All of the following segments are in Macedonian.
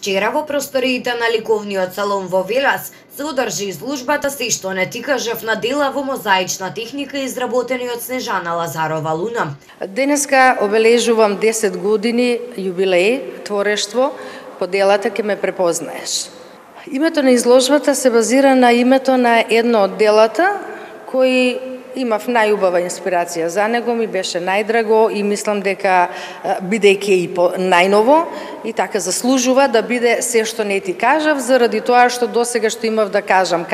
Вчера во просториите на ликовниот салон во Велес се одржи изложбата "Се што не ти кажав" на дела во мозаична техника изработени од Снежана Лазарова Луна. Денеска обележувам 10 години јубилеј творештво по делата "Ке ме препознаеш". Името на изложбата се базира на името на едно од делата кои имав најубава инспирација за него, ми беше најдраго и мислам дека бидејќи и најново и така заслужува да биде "Се што не ти кажав", заради тоа што досега што имав да кажам,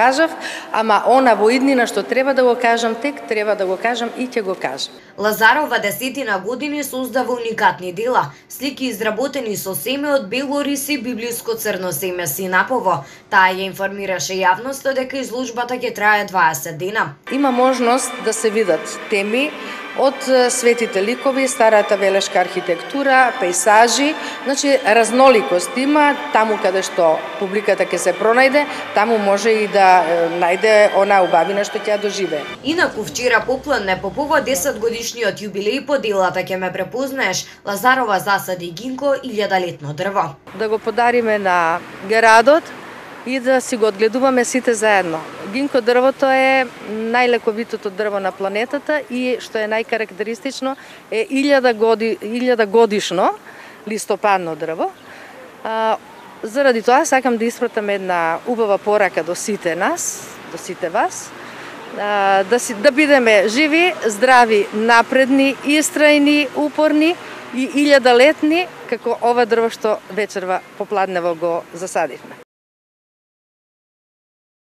ама она во иднина што треба да го кажам, тек треба да го кажам и ќе го кажам. Лазарова 10 години создава уникатни дела, слики изработени со семе од бело рис и библиско црно семе синапово. Таа ја информираше јавноста дека изложбата ќе трае 20 дена. Има можност да се видат теми од светите ликови, старата велешка архитектура, пејсажи, значи разноликост има, таму каде што публиката ќе се пронајде, таму може и да најде она убавина што ќе ја доживее. Инаку вчера попладне по повод 10 годишниот јубилеј по делата "Ке ме препознаеш", Лазарова засади гинко 1000-летно дрво. Да го подариме на градот и да си го одгледуваме сите заедно. Гинко дрвото е најлековитото дрво на планетата и што е најкарактеристично е 1000 годишно листопадно дрво. Заради тоа сакам да испратам една убава порака до сите нас, до сите вас, да бидеме живи, здрави, напредни, истрајни, упорни и 1000-летни, како ова дрво што вечерва попладнево го засадивме.